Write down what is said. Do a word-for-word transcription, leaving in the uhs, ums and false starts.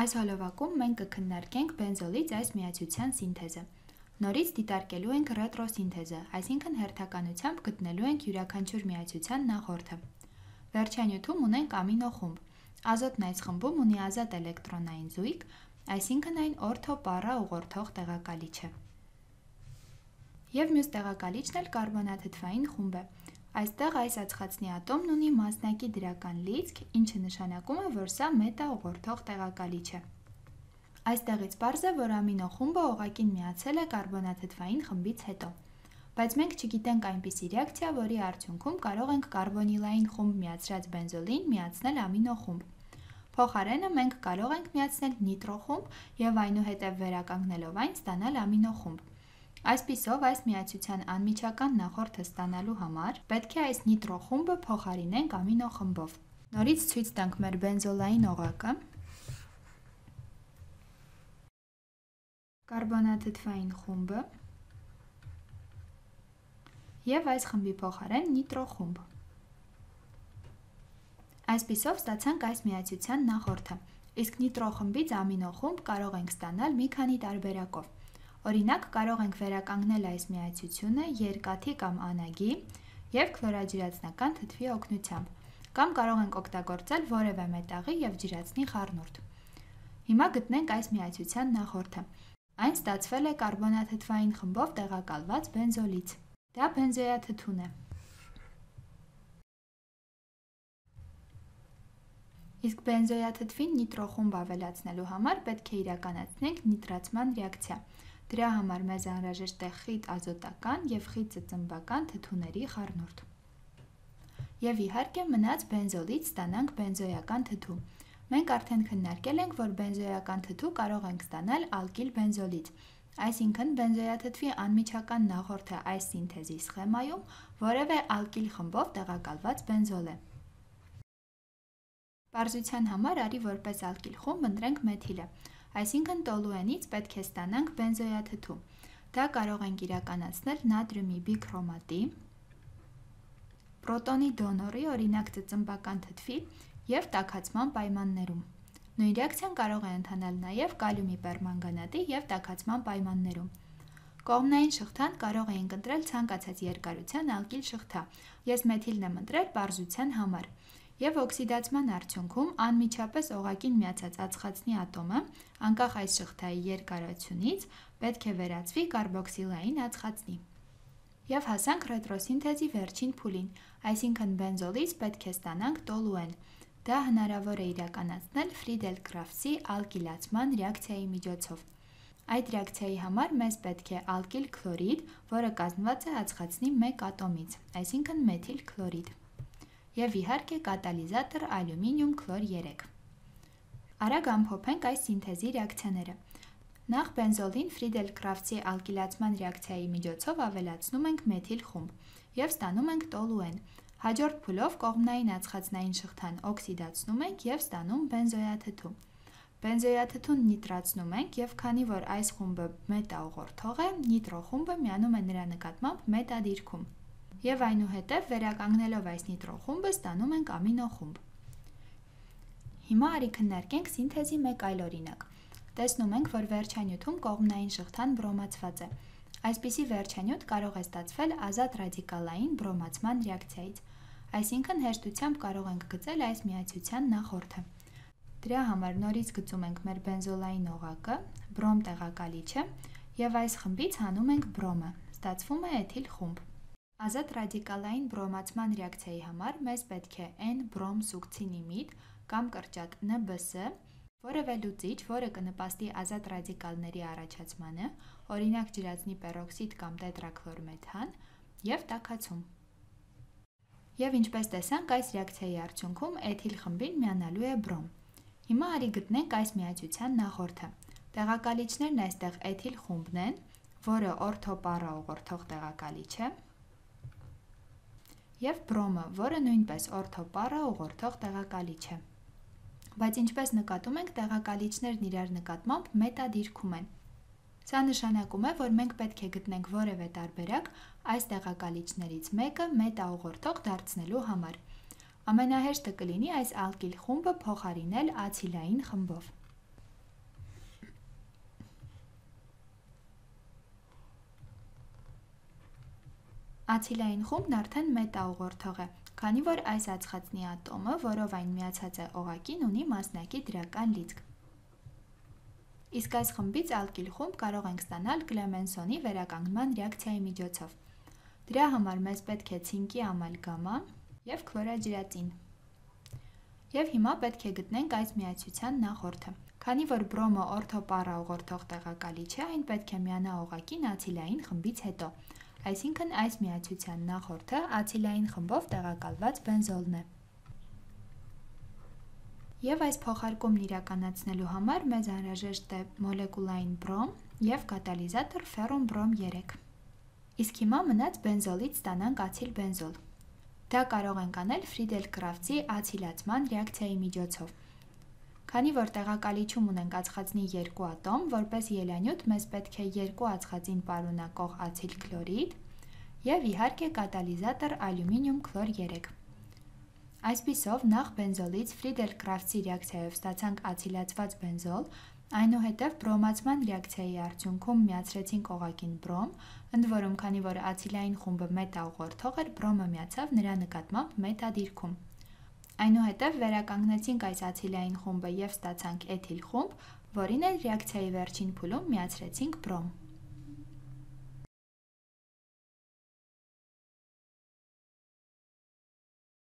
Այս հոլովակում մենք կքննարկենք բենզոլից այս միացության սինթեզը։ Նորից դիտարկելու ենք ռետրոսինթեզը, այսինքն հերթականությամբ գտնելու ենք յուրաքանչյուր միացության նախորդը։ Վերջանյութում ունենք ամինո խումբ։ Ազոտն այս խմբում ունի ազատ էլեկտրոնային զույգ, այսինքն այն օրթոպառա ուղղորդող տեղակալիչ է։ Եվ մյուս տեղակալիչն էլ կարբոնաթթվային խումբ է։ Այստեղ այս ածխածնի ատոմն ունի մասնակի դրական լիցք, ինչը նշանակում է, որ սա մետա ուղղորդող տեղակալիչ է։ Այստեղից պարզ է, որ ամինո խումբը օղակին միացել է կարբոնաթթվային խմբից հետո։ Բայց մենք չգիտենք այնպիսի ռեակցիա, որի արդյունքում կարող ենք կարբոնիլային խումբ միացրած բենզոլին միացնել ամինո խումբ։ Փոխարենը մենք կարող ենք միացնել նիտրո խումբ և այնուհետև վերականգնելով այն ստանալ ամինո խումբ։ Այսպիսով, այս միացության անմիջական նախորդը ստանալու համար պետք է այս նիտրո խումբը փոխարինենք ամինո խմբով։ Նորից ցույց տանք մեր բենզոլային օղակը։ Կարբոնաթթվային խումբը և այս խմբի փոխարեն նիտրո խումբ։ Այսպիսով ստացանք այս միացության նախորդը, իսկ նիտրո խմբից ամինո խումբ կարող ենք ստանալ մի քանի տարբերակով։ Օրինակ, կարող ենք վերականգնել այս միացությունը երկաթի կամ անագի և քլորաջրածնական թթվի օգնությամբ, կամ կարող ենք օգտագործել որևէ մետաղի և ջրածնի խառնուրդ։ Հիմա գտնենք այս միացության նախորդը։ Այն ստացվել է կարբոնաթթվային խմբով տեղակալված բենզոլից։ Դա բենզոյաթթուն է։ Իսկ բենզոյաթթվին նիտրո խումբ ավելացնելու համար պետք է իրականացնենք նիտրացման ռեակցիա։ Դրա համար մեզ անհրաժեշտ է խիտ ազոտական և խիտ ծծմբական թթուների խառնուրդ։ Եվ իհարկե մնաց բենզոլից ստանանք բենզոյական թթու։ Մենք արդեն քննարկել ենք, որ բենզոյական թթու կարող ենք ստանալ ալկիլ բենզոլից, այսինքն բենզոյաթթվի անմիջական նախորդը այս սինթեզի սխեմայում որևէ ալկիլ խմբով տեղակալված բենզոլ է։ Պարզության համար արի որպես ալկիլ խումբ ընտրենք մեթիլը, այսինքն տոլուենից պետք է ստանանք բենզոյաթթու։ Դա կարող ենք իրականացնել նատրիումի բիքրոմատի, պրոտոնի դոնորի, օրինակ ծծմբական թթվի և տաքացման պայմաններում։ Նույն ռեակցիան կարող է ընթանալ նաև կալիումի պերմանգանատի և տաքացման պայմաններում։ Կողմնային շղթան կարող էինք ընտրել ցանկացած երկարության ալկիլ շղթա, ես մեթիլն եմ ընտրել պարզության համար, և օքսիդացման արդյունքում անմիջապես օղակին միացած ածխածնի ատոմը, անկախ այս շղթայի երկարությունից, պետք է վերածվի կարբոքսիլային ածխածնի։ Եվ հասանք ռետրոսինթեզի վերջին փուլին, այսինքն բենզոլից պետք է ստանանք տոլուեն։ Դա հնարավոր է իրականացնել Ֆրիդել-Կրաֆտսի ալկիլացման ռեակցիայի միջոցով։ Այդ ռեակցիայի համար մեզ պետք է ալկիլ քլորիդ, որը կազմված է ածխածնի մեկ ատոմից, այսինքն մեթիլ քլորիդ։ Եվ իհարկե կատալիզատոր ալյումինիում քլոր երեք։ Արագ ամփոփենք այս սինթեզի ռեակցիաները։ Նախ բենզոլին Ֆրիդել-Կրաֆտսի ալկիլացման ռեակցիայի միջոցով ավելացնում ենք մեթիլ խումբ և ստանում ենք տոլուեն։ Հաջորդ փուլով կողմնային ածխածնային շղթան օքսիդացնում ենք և ստանում բենզոյաթթու։ Բենզոյաթթուն նիտրացնում ենք և քանի որ այս խումբը մետա ուղղորդող է, նիտրո խումբը միանում է նրա նկատմամբ մետա դիրքում։ Եվ այնուհետև վերականգնելով այս նիտրո խումբը ստանում ենք ամինո խումբ։ Հիմա արի քննարկենք սինթեզի մեկ այլ օրինակ։ Տեսնում ենք, որ վերջանյութում կողմնային շղթան բրոմացված է։ Այսպիսի վերջանյութ կարող է ստացվել ազատ ռադիկալային բրոմացման ռեակցիայից, այսինքն հեշտությամբ կարող ենք գծել այս միացության նախորդը։ Դրա համար նորից գծում ենք մեր բենզոլային օղակը, բրոմ տեղակալիչը և այս խմբից հանում ենք բրոմը, ստացվում է էթիլ խումբ։ Ազատ ռադիկալային բրոմացման ռեակցիայի համար մեզ պետք է N բրոմ սուկցինիմիդ կամ կրճատ N B S, որևէ լուծիչ, որը կնպաստի ազատ ռադիկալների առաջացմանը, օրինակ ջրածնի պերօքսիդ կամ տետրաքլորմեթան, և տաքացում։ Եվ ինչպես տեսանք, այս ռեակցիայի արդյունքում էթիլ խմբին միանալու է բրոմ։ Հիմա արի գտնենք այս միացության նախորդը։ Տեղակալիչներն այստեղ էթիլ խումբն են, որը օրթոպառա ուղղորդող տեղակալիչ է, և բրոմը, որը նույնպես օրթոպառա ուղղորդող տեղակալիչ է։ Բայց ինչպես նկատում ենք, տեղակալիչներն իրար նկատմամբ մետա դիրքում են։ Սա նշանակում է, որ մենք պետք է գտնենք որևէ տարբերակ այս տեղակալիչներից մեկը մետա ուղղորդող դարձնելու համար։ Ամենահեշտը կլինի այս ալկիլ խումբը փոխարինել ացիլային խմբով։ Ացիլային խումբն արդեն մետաուղղորդող է, քանի որ այս ածխածնի ատոմը, որով այն միացած է օղակին, ունի մասնակի դրական լիցք։ Իսկ այս խմբից ալկիլ խումբ կարող ենք ստանալ Կլեմենսոնի վերականգնման ռեակցիայի միջոցով։ Դրա համար մեզ պետք է ցինկի ամալգամա և քլորաջրածին։ Եվ հիմա պետք է գտնենք այս միացության նախորդը։ Քանի որ բրոմը օրթոպարա ուղղորդող տեղակալի չէ, այն պետք է միանա օղակին ացիլային խմբից հետո։ Այսինքն այս միացության նախորդը ացիլային խմբով տեղակալված բենզոլն է։ Եվ այս փոխարկումն իրականացնելու համար մեզ անհրաժեշտ է մոլեկուլային բրոմ և կատալիզատոր ֆերում բրոմ երեք։ Իսկ հիմա մնաց բենզոլից ստանանք ացիլ բենզոլ։ Դա կարող ենք անել Ֆրիդել-Կրաֆտսի ացիլացման ռեակցիայի միջոցով։ Քանի որ տեղակալիչում ունենք ածխածնի երկու ատոմ, որպես ելանյութ մեզ պետք է երկու ածխածին պարունակող ացիլ քլորիդ և իհարկե կատալիզատոր ալյումինիում քլոր երեք։ Այսպիսով նախ բենզոլից Ֆրիդել-Կրաֆտսի ռեակցիայով ստացանք ացիլացված բենզոլ, այնուհետև բրոմացման ռեակցիայի արդյունքում միացրեցինք օղակին բրոմ, ընդ որում քանի որ ացիլային խումբը մետաուղղորդող էր, բրոմը միացավ նրա նկատմամբ մետադիրքում։ Այնուհետև վերականգնեցինք այս ացիլային խումբը և ստացանք էթիլ խումբ, որին էլ ռեակցիայի վերջին փուլում միացրեցինք բրոմ։